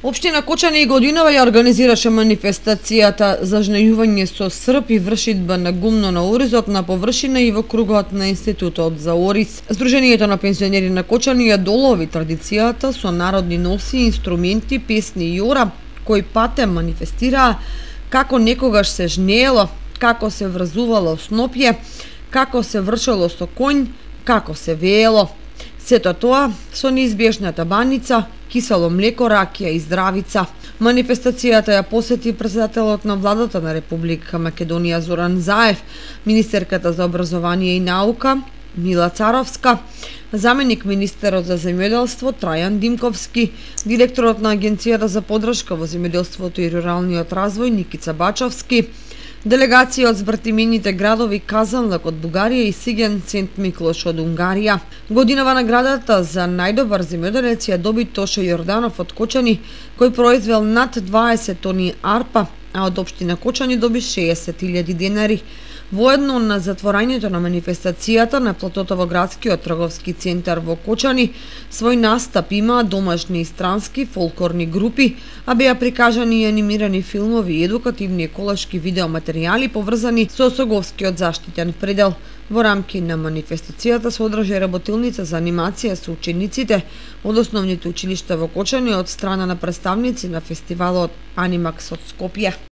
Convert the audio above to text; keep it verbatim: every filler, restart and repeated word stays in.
Општина Кочани и годинава ја организираше манифестацијата за жнејување со срп и вршидба на гумно на оризот на површина и во кругот на Институтот за ориз. Сдруженијето на пензионери на Кочани ја долови традицијата со народни носи, инструменти, песни и јора, кои пате манифестираа како некогаш се жнеело, како се врзувало снопје, како се вршело со конј, како се веело. Сето тоа со неизбежната баница, кисело млеко, ракија и здравица. Манифестацијата ја посети претседателот на владата на Република Македонија Зоран Заев, министерката за образование и наука Мила Царовска, заменик министерот за земјоделство Трајан Димковски, директорот на Агенцијата за поддршка во земјоделството и руралниот развој Никица Бачовски, делегација од збртимените градови Казанлак од Бугарија и Сиген Сент Миклош од Унгарија. Годинава наградата за најдобар земјоделец ја доби Тоше Јорданов од Кочани, кој произвел над дваесет тони арпа, а од општина Кочани доби шеесет илјади денари. Воедно на затворањето на манифестацијата на платото во градскиот трговски центар во Кочани, свој настап имаа домашни и странски фолклорни групи, а беа прикажани и анимирани филмови и едукативни еколошки видеоматеријали поврзани со Соговскиот заштитен предел. Во рамки на манифестацијата се одржа работилница за анимација со учениците од основните училишта во Кочани од страна на представници на фестивалот Анимакс од Скопје.